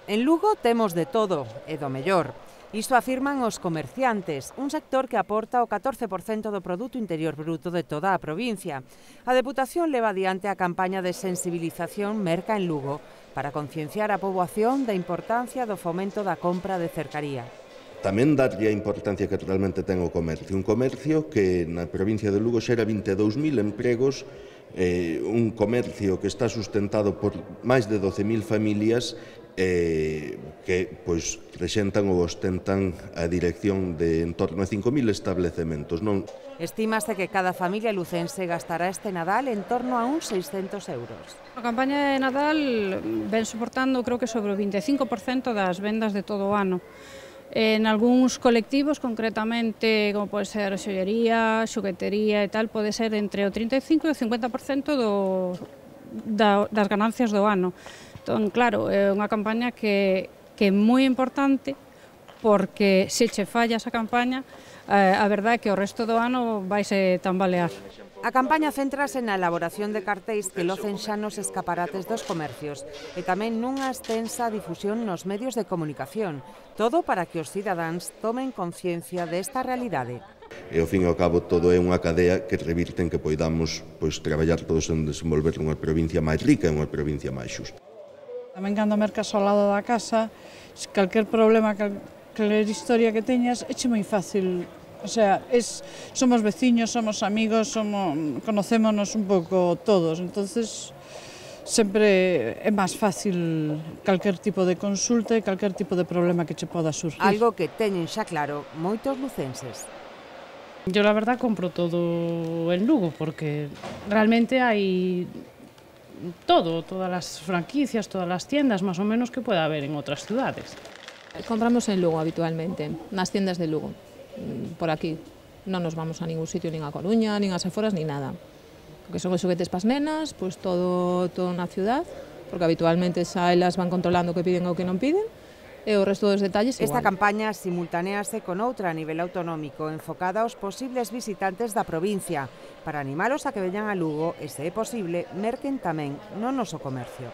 En Lugo temos de todo e do mellor. Isto afirman os comerciantes, un sector que aporta o 14% do Produto Interior Bruto de toda a provincia. A Deputación leva adiante a campaña de sensibilización Merca en Lugo para concienciar a poboación da importancia do fomento da compra de cercaría. Tamén darlle a importancia que realmente ten o comercio. Un comercio que na provincia de Lugo xera 22.000 empregos, un comercio que está sustentado por máis de 12.000 familias que presentan ou ostentan a dirección de en torno a 5.000 establecementos. Estímase que cada familia lucense gastará este Nadal en torno a uns 600 euros. A campaña de Nadal ven soportando, creo que sobre o 25% das vendas de todo o ano. En algúns colectivos, concretamente, como pode ser xollería, xoguetería e tal, pode ser entre o 35 e o 50% das ganancias do ano. Entón, claro, é unha campaña que é moi importante porque se che falla esa campaña, a verdade é que o resto do ano vaise tambalear. A campaña céntrase na elaboración de cartéis que locen xa nos escaparates dos comercios e tamén nunha extensa difusión nos medios de comunicación, todo para que os cidadáns tomen conciencia desta realidade. E ao fin e ao cabo todo é unha cadea que revirte en que poidamos traballar todos en desenvolver unha provincia máis rica e unha provincia máis xusta. Tamén cando mercas ao lado da casa, calquer problema, calquer historia que teñas, é moi fácil. O sea, somos veciños, somos amigos, conocémonos un pouco todos, entonces sempre é máis fácil calquer tipo de consulta e calquer tipo de problema que che poda surgir. Algo que teñen xa claro moitos lucenses. Yo la verdad compro todo en Lugo porque realmente hai todas las franquicias, todas las tiendas más o menos que pueda haber en otras ciudades. Compramos en Lugo habitualmente, nas tiendas de Lugo. Por aquí non nos vamos a ningún sitio, nin a Coruña, nin a Seforas, nin nada. Porque son os xoguetes pas nenas, pois todo na ciudad, porque habitualmente xa elas van controlando o que piden ou que non piden, e o resto dos detalles igual. Esta campaña simultanease con outra a nivel autonómico enfocada aos posibles visitantes da provincia para animalos a que veñan a Lugo e, se é posible, merquen tamén no noso comercio.